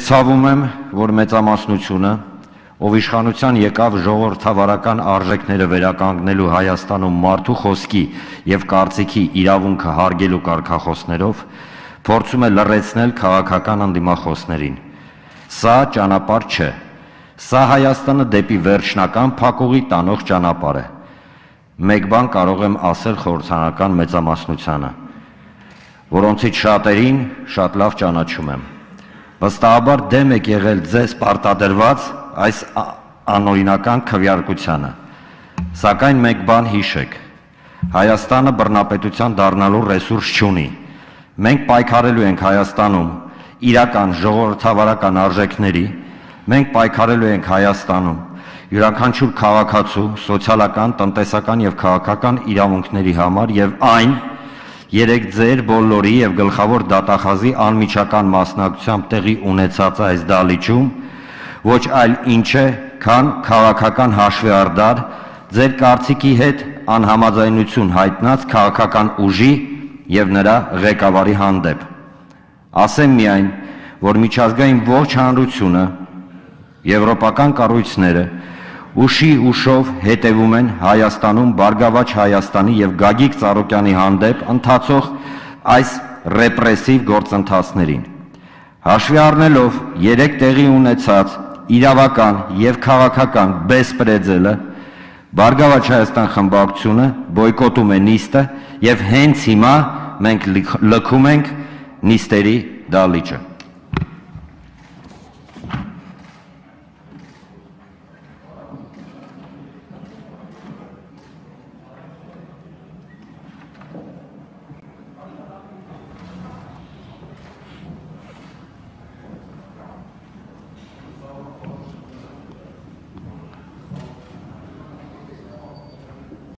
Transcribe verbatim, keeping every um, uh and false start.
ցավում եմ, որ մեծամասնությունը, ով իշխանության եկավ ժողովրդավարական արժեքները վերականգնելու Հայաստանում մարդու խոսքի եւ կարծիքի իրավունքը հարգելու կարգախոսներով, փորձում է լռեցնել քաղաքական անդիմախոսներին։ Սա ճանապարհ չէ։ Սա Հայաստանը դեպի վերջնական փակուղի տանող ճանապարհ է։ Մեկ բան կարող եմ ասել խորհրդանական մեծամասնությանը, որոնցից շատերին շատ լավ ճանաչում եմ։ Վստահաբար դեմ եք եղել ձեզ պարտադրված այս անօրինական քվեարկությանը, սակայն մեկ բան հիշեք. Հայաստանը բռնապետության դառնալու ռեսուրս չունի։ Մենք պայքարելու ենք Հայաստանում իրական ժողովրդավարական արժեքների, մենք պայքարելու ենք Հայաստանում յուրաքանչյուր քաղաքացու սոցիալական, տնտեսական եւ քաղաքական իրավունքների համար եւ այն երեք ձեր բոլորի եւ գլխավոր դատախազի անմիջական մասնակցությամբ տեղի ունեցած այս դահլիճում ոչ այլ ինչ է, քան քաղաքական հաշվեհարդար ձեր կարծիքի հետ անհամաձայնություն հայտնած քաղաքական ուժի եւ նրա ղեկավարի հանդեպ։ Ասեմ միայն, որ միջազգային ողջ հանրությունը, եվրոպական կառույցները ուշի ուշով հետևում են Հայաստանում Բարգավաճ Հայաստանի եւ Գագիկ Ծառուկյանի հանդեպ ընթացող այս ռեպրեսիվ գործընթացներին։ Հաշվի առնելով երեք տեղի ունեցած իրավական եւ քաղաքական բեսպրեդելը, Բարգավաճ Հայաստան խմբակցությունը բոյկոտում է նիստը եւ հենց հիմա մենք լքում ենք նիստերի դահլիճը։